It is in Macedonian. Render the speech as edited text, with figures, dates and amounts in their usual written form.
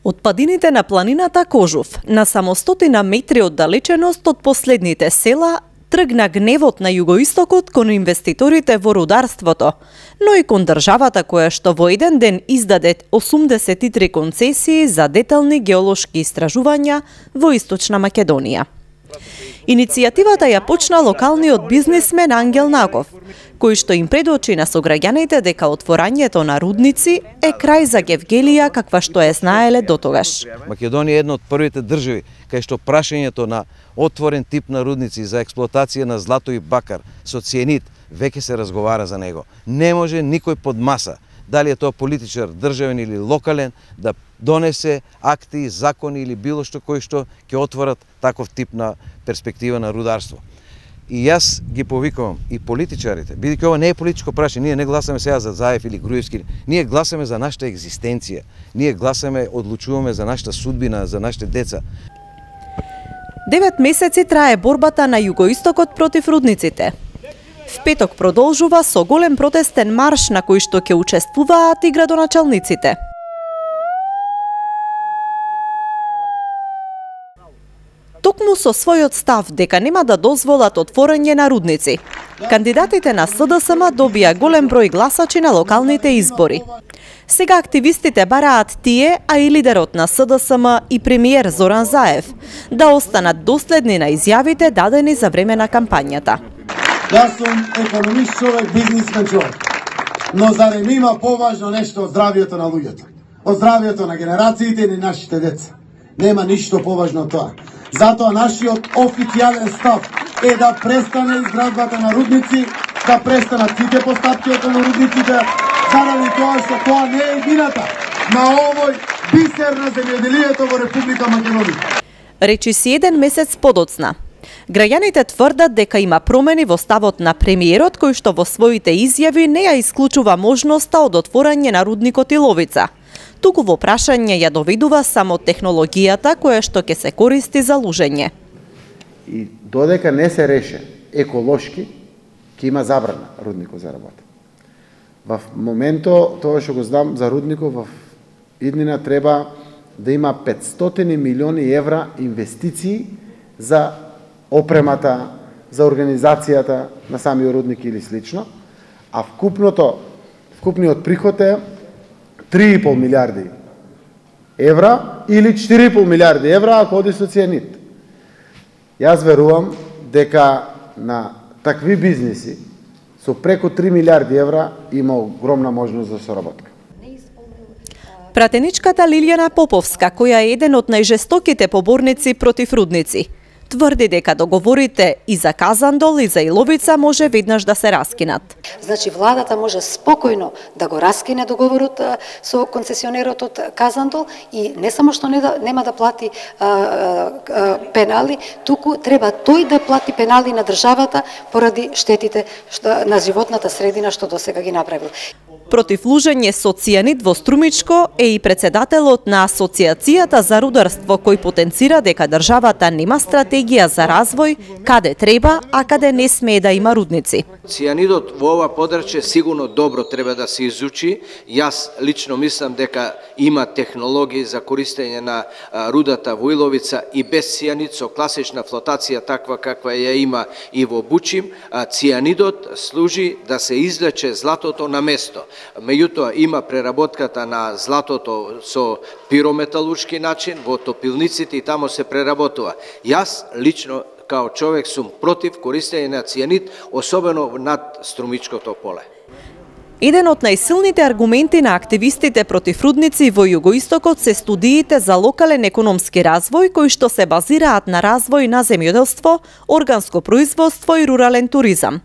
Од падините на планината Кожув, на само 100 метри оддалеченост од последните села, тргна гневот на југоистокот кон инвеститорите во рударството, но и кон државата која што во еден ден издаде 83 концесии за детални геолошки истражувања во Источна Македонија. Иницијативата ја почна локалниот бизнисмен Ангел Наков, кој што им предочи на сограѓаните дека отворањето на рудници е крај за Гевгелија каква што е знаеле дотогаш. Македонија е една од првите држави кај што прашањето на отворен тип на рудници за експлоатација на злато и бакар со цијанид веќе се разговара за него. Не може никој под маса, дали е тоа политичар, државен или локален, да донесе акти, закони или било што кои што ќе отворат таков тип на перспектива на рударство. И јас ги повикувам и политичарите, бидејќи ова не е политичко прашање, ние не гласаме сега за Заев или Груевски, ние гласаме за нашата екзистенција, ние гласаме, одлучуваме за нашата судбина, за нашите деца. 9 месеци трае борбата на југоистокот против рудниците. В петок продолжува со голем протестен марш на кој што ќе учествуваат и градоначалниците. Токму со својот став дека нема да дозволат отворање на рудници, кандидатите на СДСМ добија голем број гласачи на локалните избори. Сега активистите бараат тие, а и лидерот на СДСМ и премиер Зоран Заев, да останат доследни на изјавите дадени за време на кампањата. Јас сум економист човек, бизнисмен човек, но зарем има поважно нешто од здравието на луѓето, од здравието на генерациите и нашите деца. Нема ништо поважно од тоа. Затоа нашиот официјален став е да престане изградбата на рудници, да престанат сите постапки околу рудниците, заради тоа што тоа не е едината на овој бисер на земјоделието во Република Македонија. Речи си еден месец подоцна. Граѓаните тврдат дека има промени во ставот на премиерот кој што во своите изјави не ја исклучува можноста од отворање на рудникот Иловица. Туку во прашање ја доведува само технологијата која што ќе се користи за лужење. И додека не се реше еколошки, ќе има забрана рудникот за работа. Во моментот, тоа што го знам за рудникот, во иднина треба да има 500 милиони евра инвестиции за опремата, за организацијата на самиот рудник или слично, а вкупниот приход е 3,5 милиарди евра или 4,5 милиарди евра ако оди со цијанид. Јас верувам дека на такви бизниси со преку 3 милиарди евра има огромна можност за соработка. Пратеничката Лилјана Поповска, која е еден од најжестоките поборници против рудници, тврди дека договорите и за Казандол и за Иловица може веднаш да се раскинат. Значи владата може спокојно да го раскине договорот со концесионерот од Казандол и не само што нема да плати пенали, туку треба тој да плати пенали на државата поради штетите на животната средина што досега ги направил. Против лужење со цијанид во Струмичко е и председателот на Асоциацијата за рударство кој потенцира дека државата нема стратегија за развој каде треба, а каде не смее да има рудници. Цијанидот во ова подрачје сигурно добро треба да се изучи. Јас лично мислам дека има технологии за користење на рудата во Иловица и без цијанид со класична флотација таква каква ја има и во Бучим. Цијанидот служи да се излече златото на место. Меѓутоа има преработката на златото со пирометалуршки начин во топилниците и тамо се преработува. Јас лично као човек сум против користење на цијанид, особено над Струмичкото поле. Еден од најсилните аргументи на активистите против рудници во југоистокот се студиите за локален економски развој кои што се базираат на развој на земјоделство, органско производство и рурален туризам.